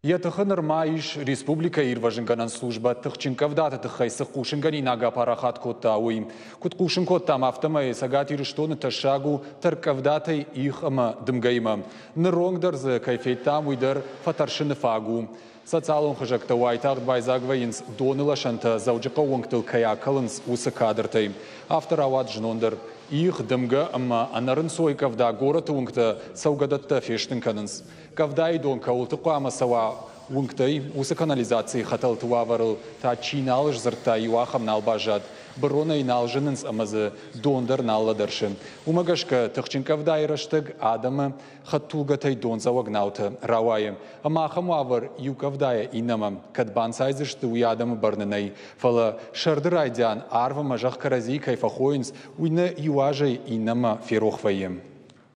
Йӕ тыхы нырма ис республикӕйы ирвӕзынгӕнӕн службӕ тыхджын къӕвдаты тыххӕй цы хъусынгӕнинаг апарахат кодта, уый. Куыд хъусын кодтам, афтӕмӕй Цӕгат Ирыстоны тӕссаг у тӕрккъӕвдатӕй их ӕмӕ дымгӕимӕ. Ныронг дӕр дзы кӕй федтам, уый дӕр фӕтӕрсыны фаг у. Социалон хызӕгтӕ уайтагъд байдзаг вӕййынц доны лӕсӕнтӕ Дзӕуджыхъӕуы уынгтыл кӕй акӕлынц, уыцы кадртӕй. Афтӕ рауад знон дӕр. Их, дымгӕ ӕмӕ ӕнӕрынцой къӕвда горӕты уынгтӕ цӕугӕдӕттӕ фестын кӕнынц. Къӕвдайы дон кӕуылты хъуамӕ цӕуа уынгтӕй, уыцы канализацийы хӕтӕлты уавӕрыл та чи нал сдзырдта, иу ахӕм нал баззад. Быронӕй нал зынынц ӕмӕ дзы дон дӕр нал лӕдӕрсы. Уымӕ гӕсгӕ тыхджын къӕвдайы рӕстӕг адӕмы хӕдтулгӕтӕй дондзӕуӕг наутӕ рауайы. Ӕмӕ ахӕм уавӕр иу къӕвдайӕ иннӕмӕ кӕд банцайдзысты, уый адӕмы бӕрны нӕй. Фӕлӕ сӕрды райдиан арв ӕмӕ зӕхх кӕрӕдзийы кӕй фӕхойынц, уый нӕ иу азӕй иннӕмӕ ферох вӕййы.